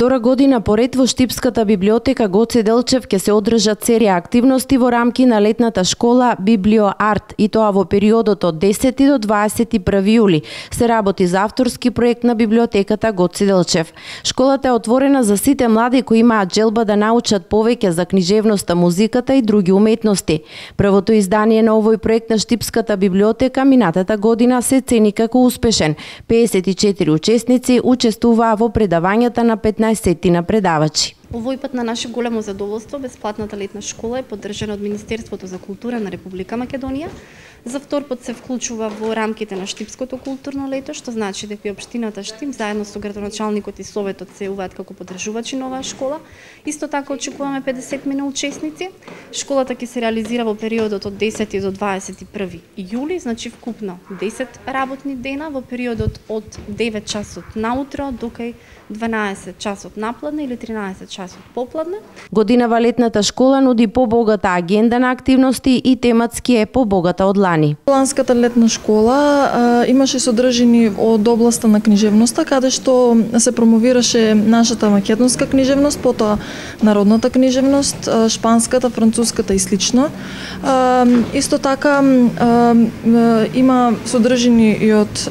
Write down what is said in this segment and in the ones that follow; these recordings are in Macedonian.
Втора година поред во Штипската библиотека Гоце Делчев ќе се одржат серија активности во рамки на летната школа Библиоарт, и тоа во периодот од 10 до 21 јули. Се работи за авторски проект на библиотеката Гоце Делчев. Школата е отворена за сите млади кои имаат желба да научат повеќе за книжевноста, музиката и други уметности. Првото издание на овој проект на Штипската библиотека минатата година се цени како успешен. 54 учесници учествуваа во предавањата на 15 на предавачи. Овој пат на наше големо задоволство бесплатната летна школа е поддржана од Министерството за култура на Република Македонија. За втор пат се вклучува во рамките на Штипското културно лето, што значи дека и општината Штип заедно со градоначалникот и советот се јавуваат како поддржувачи на оваа школа. Исто така очекуваме 50 учесници. Школата ќе се реализира во периодот од 10 до 21 јули, значи вкупно 10 работни дена во периодот од 9 часот наутро до кај 12 часот напладне или 13 часот попладне. Годинава летната школа нуди побогата агенда на активности и тематски е побогата од лани. Ланската летна школа имаше содржини од областа на книжевноста, каде што се промовираше нашата македонска книжевност, потоа народната книжевност, шпанската, француската и слично. Исто така има содржини и од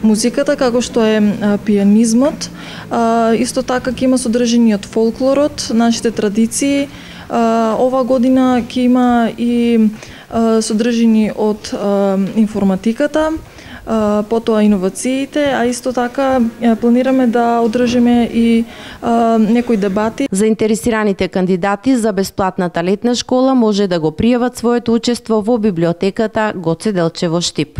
музиката, како што е пианизмот. Исто така ќе има содржини од фолклорот, нашите традиции. Ова година ќе има и содржини од информатиката, потоа иновациите, а исто така планираме да одржиме и некои дебати. Заинтересираните кандидати за бесплатната летна школа може да го пријават своето учество во библиотеката Гоце Делчев во Штип.